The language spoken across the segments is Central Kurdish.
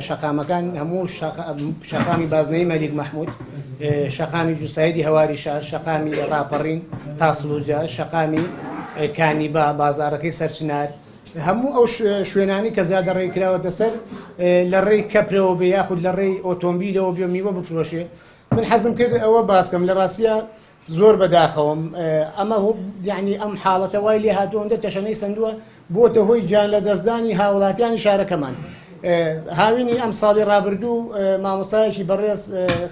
شەقامەکان هەموو شەقامی بازنەی مەلیک مەحمود، شەقامی جوسایدی هەواری شار، شەقامی ڕاپەڕین تاسڵوجە، شەقامی کانیبا، بازارەکەی سەرچنار، هەموو ئەو شوێنانی کە زیادە ڕێی کراوەتە سەر لە ڕێی کەپرەوە بێ یاخود لە ڕێی ئۆتۆمبیلەوە بێ میوە بفرۆشێ. من حەزم کرد ئەوە باسکەم، لە ڕاستیە زۆر بەداخەوەم ئەمە یعنی ئەم حاڵەتە وای لێ هاتووە ئەوەندە تەشەنەی سندووە بۆتە هۆی گیان لە دەستدانی هاوڵاتیانی شارەکەمان. هاوینی ئەم ساڵی ڕابردوو مامۆستایەکی بەڕێز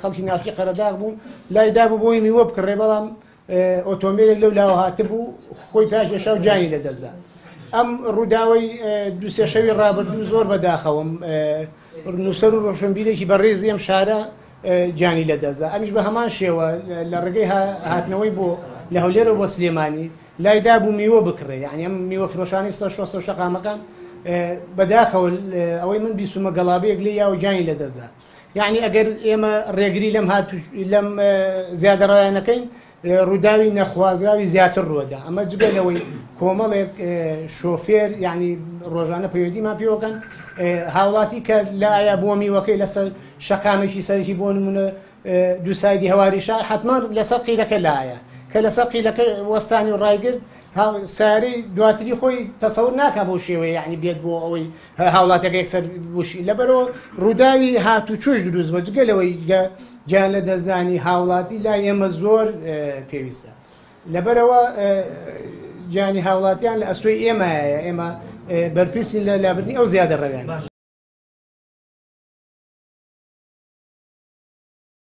خەڵکی ناوچەی قەرەداغ بوو، لای دابوو بۆی میوە بکڕێ، بەڵام ئۆتۆمبیلێک لەو لاوە هاتبوو خۆی پاکێشا و گیانی لەدەستدا. ئەم ڕووداوەی دوو سێ شەوی ڕابردوو زۆر بەداخەوەم، نووسەر و ڕۆشنبیرێکی بەڕێزی ئەم شارە گیانی لەدەستدا. ئەمیش بە هەمان شێوە لە ڕێگەی هاتنەوەی بۆ لە هەولێرەوە بۆ سلێمانی لای دابوو میوە بکڕێ، یعنی ئەم میوە فرۆشانی سەر شۆستە و شەقامەکان بەداخەوە ئەوەی من بیسومە گەڵابەیەک لێ یا و گیانی لەدەستدا. یعنی ئەگەر ئێمە ڕێگری لەم هات لەم زیادەڕەوانەکەین ڕووداوی نەخوازراوی زیاتر ڕووەدا. ئەمە جگە لەوەی کۆمەڵێک شۆفێر یعنی ڕۆژانە پەیوەندیمان پێوەکەن، هاوڵاتی کە لە ئایا بۆ میوەکەی لەسەر شەقامێکی سەرەکی بۆ نمونە دوو سایدی هەواری شار حتمما لەسەر قیرەکە لایە، کە لەسەر قیرەکە وەستانی و ڕایگرت ساری دواتری خۆی تەسەور ناکا بۆ شێوەیە یعنی بێت بۆ ئەوەی هاوڵاتەکە یەکسەر بوشی. لەبەرەوە ڕووداوی هاتوچۆش دروست بە، جگە لەوەی گیان لە دەستدانی هاوڵاتی لای ئێمە زۆر پێویستە. لەبەرەوە گیانی هاوڵاتیان لە ئەستۆی ئێمەیە، ئێمە بەرپرسین لە لابردنی ئەو زیادە ڕەویانە.